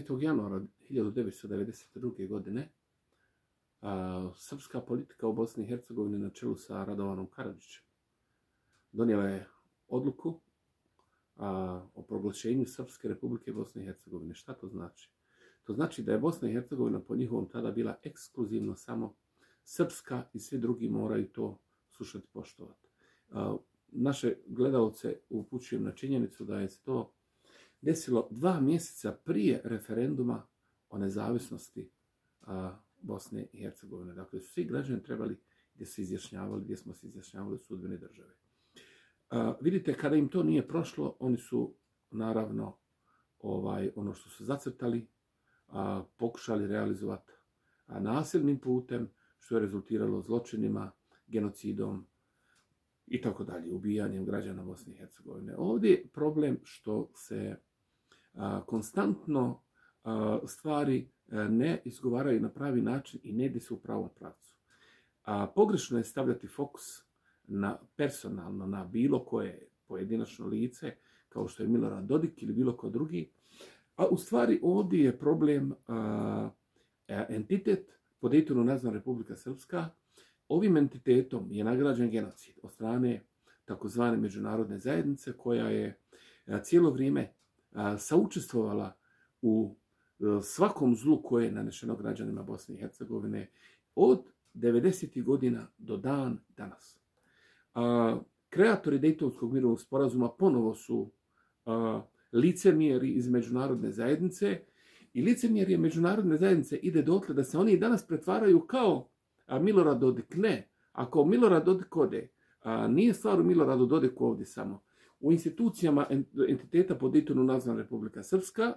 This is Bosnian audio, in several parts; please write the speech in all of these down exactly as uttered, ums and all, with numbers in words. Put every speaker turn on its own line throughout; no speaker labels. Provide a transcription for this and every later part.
devetog januara hiljadu devetsto devedeset druge. godine a, srpska politika u Bosni i Hercegovini na čelu sa Radovanom Karadžićem donijela je odluku a, o proglašenju Srpske Republike Bosne i Hercegovine. Šta to znači? To znači da je Bosna i Hercegovina po njihovom tada bila ekskluzivno samo srpska i svi drugi moraju to slušati, poštovati. A, naše gledalce upućujem na činjenicu da je to desilo dva mjeseca prije referenduma o nezavisnosti a, Bosne i Hercegovine. Dakle, su svi građani trebali gdje se izjašnjavali, gdje smo se izjašnjavali sudbene države. A, vidite, kada im to nije prošlo, oni su naravno ovaj, ono što su zacrtali, a, pokušali realizovati a, nasilnim putem, što je rezultiralo zločinima, genocidom i tako dalje, ubijanjem građana Bosne i Hercegovine. Ovdje je problem što se a, konstantno a, stvari a, ne izgovaraju na pravi način i ne ide se u pravom pravcu. A, pogrešno je stavljati fokus na personalno, na bilo koje pojedinačno lice, kao što je Milorad Dodik ili bilo ko drugi. A u stvari ovdje je problem a, entitet po Dejtonu nazvan Republika Srpska. Ovim entitetom je nagrađen genocid od strane takozvane međunarodne zajednice koja je cijelo vrijeme saučestvovala u svakom zlu koje je nanešeno građanima Bosne i Hercegovine od devedesetih godina do dan danas. Kreatori Dejtonskog mirovnog sporazuma ponovo su licemjeri iz međunarodne zajednice i licemjerje međunarodne zajednice ide dotle da se oni danas pretvaraju kao a Milorad Dodik. Ne, ako Milorad Dodik ode, a nije stvar u Miloradu Dodiku ovdje samo. U institucijama entiteta po Dejtonu nazvan Republika Srpska,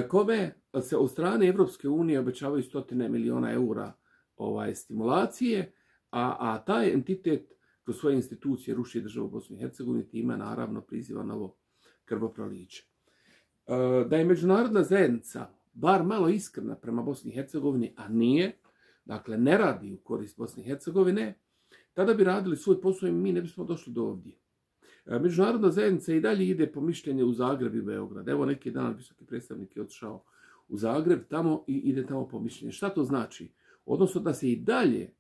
kome se od strane Evropske unije obećavaju stotine miliona eura ovaj, stimulacije, a, a taj entitet kroz svoje institucije ruši državu Bosnu i Hercegovini, time naravno priziva novo krvoproliće. Da je međunarodna zajednica bar malo iskrena prema Bosni i Hercegovini, a nije, dakle ne radi u korist Bosne i Hercegovine, tada bi radili svoj posao i mi ne bismo došli do ovdje. Međunarodna zajednica i dalje ide po mišljenje u Zagreb i Beograd. Evo neki dan visoki predstavnik je otišao u Zagreb tamo i ide tamo po mišljenje. Šta to znači? Odnosno da se i dalje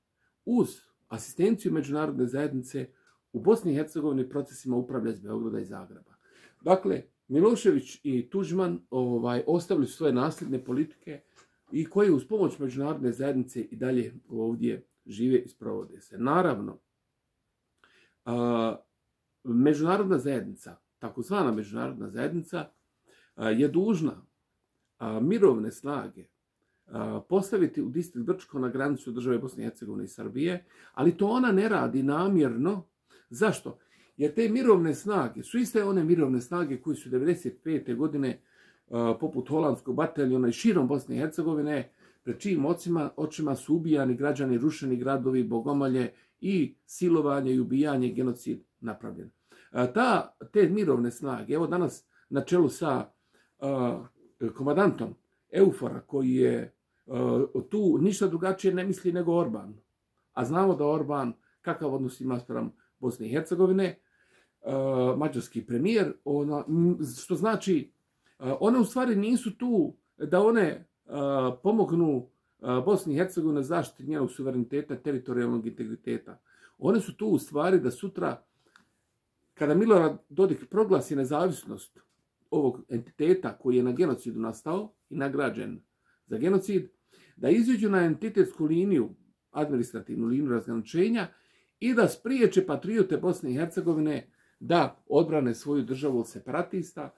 uz asistenciju međunarodne zajednice u Bosni i Hercegovini procesima upravlja iz Beograda i Zagreba. Dakle, Milošević i Tuđman ovaj, ostavili su svoje nasljedne politike i koje uz pomoć međunarodne zajednice i dalje ovdje žive i sprovode se. Naravno, a, međunarodna zajednica, takozvana međunarodna zajednica, a, je dužna a, mirovne snage a, postaviti u distrikt Brčko na granicu države Bosne i Hercegovine i Srbije, ali to ona ne radi namjerno. Zašto? Jer te mirovne snage su iste one mirovne snage koje su devedeset pete. godine poput holandskog bataljona i širom Bosne i Hercegovine, pred čijim očima, očima su ubijani građani, rušeni gradovi, bogomolje i silovanje i ubijanje, genocid napravljen. Ta, te mirovne snage, evo danas na čelu sa uh, komandantom Eufora, koji je uh, tu ništa drugačije ne misli nego Orban. A znamo da Orban kakav odnos ima spram Bosne i Hercegovine, uh, mađarski premijer, ona, što znači one u stvari nisu tu da one uh, pomognu uh, Bosni i Hercegovini zaštiti njenog suvereniteta, teritorijalnog integriteta. One su tu u stvari da sutra, kada Milorad Dodik proglasi nezavisnost ovog entiteta koji je na genocidu nastao i nagrađen za genocid, da iziđu na entitetsku liniju, administrativnu liniju razgraničenja i da spriječe patriote Bosne i Hercegovine da odbrane svoju državu od separatista,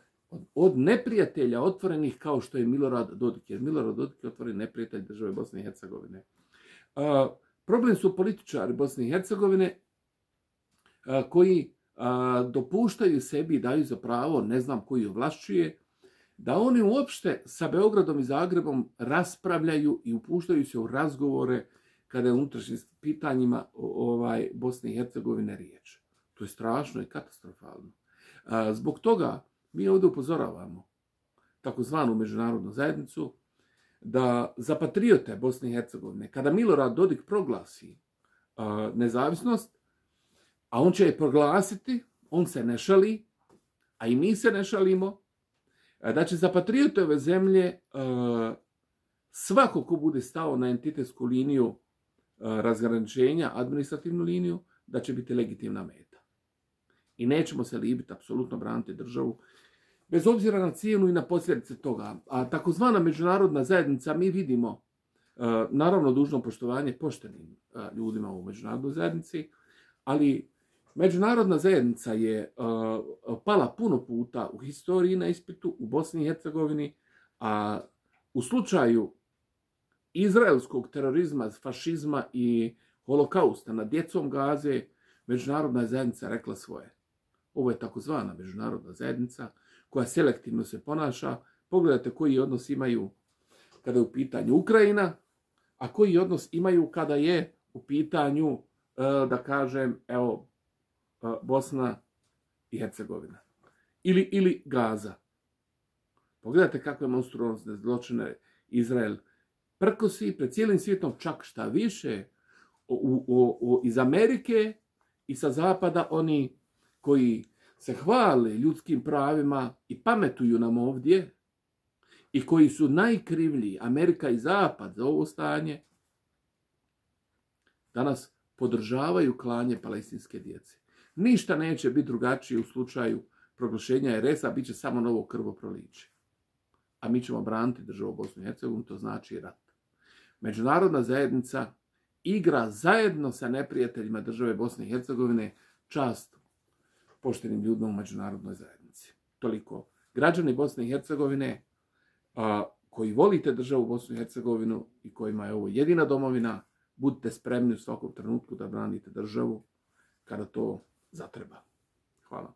od neprijatelja otvorenih kao što je Milorad Dodik, jer Milorad Dodik je otvoren neprijatelj države Bosne i Hercegovine. Uh, problem su političari Bosne i Hercegovine uh, koji uh, dopuštaju sebi i daju za pravo, ne znam koji ovlašćuje, da oni uopšte sa Beogradom i Zagrebom raspravljaju i upuštaju se u razgovore kada je u unutrašnjim pitanjima ovaj, Bosne i Hercegovine riječ. To je strašno i katastrofalno. Uh, zbog toga mi ovdje upozoravamo takozvanu međunarodnu zajednicu da za patriote Bosne i Hercegovine, kada Milorad Dodik proglasi uh, nezavisnost, a on će je proglasiti, on se ne šali, a i mi se ne šalimo, da će za patriote ove zemlje svako ko bude stao na entitetsku liniju razgraničenja, administrativnu liniju, da će biti legitimna meta. I nećemo se libiti apsolutno braniti državu, bez obzira na cijenu i na posljedice toga. A takozvana međunarodna zajednica, mi vidimo, naravno dužno poštovanje poštenim ljudima u međunarodnoj zajednici, ali međunarodna zajednica je pala puno puta u historiji na ispitu u Bosni i Hercegovini, a u slučaju izraelskog terorizma, fašizma i holokausta nad djecom Gaze, međunarodna zajednica rekla svoje. Ovo je takozvana međunarodna zajednica koja selektivno se ponaša. Pogledajte koji odnos imaju kada je u pitanju Ukrajina, a koji odnos imaju kada je u pitanju, da kažem, evo, Bosna i Hercegovina. Ili, ili Gaza. Pogledajte kakve monstruozne zločine Izrael prkosi pred cijelim svijetom, čak šta više, u, u, u, iz Amerike i sa zapada oni koji se hvale ljudskim pravima i pametuju nam ovdje i koji su najkrivlji, Amerika i zapad, za ovo stanje, danas podržavaju klanje palestinske djece. Ništa neće biti drugačije u slučaju proglašenja er es a, bit će samo novo krvoproliće. A mi ćemo braniti državu Bosnu i Hercegovinu, to znači rat. Međunarodna zajednica igra zajedno sa neprijateljima države Bosne i Hercegovine čast poštenim ljudima u međunarodnoj zajednici. Toliko. Građani Bosne i Hercegovine a, koji volite državu Bosnu i Hercegovinu i kojima je ovo jedina domovina, budite spremni u svakom trenutku da branite državu kada to zatreba. Hvala.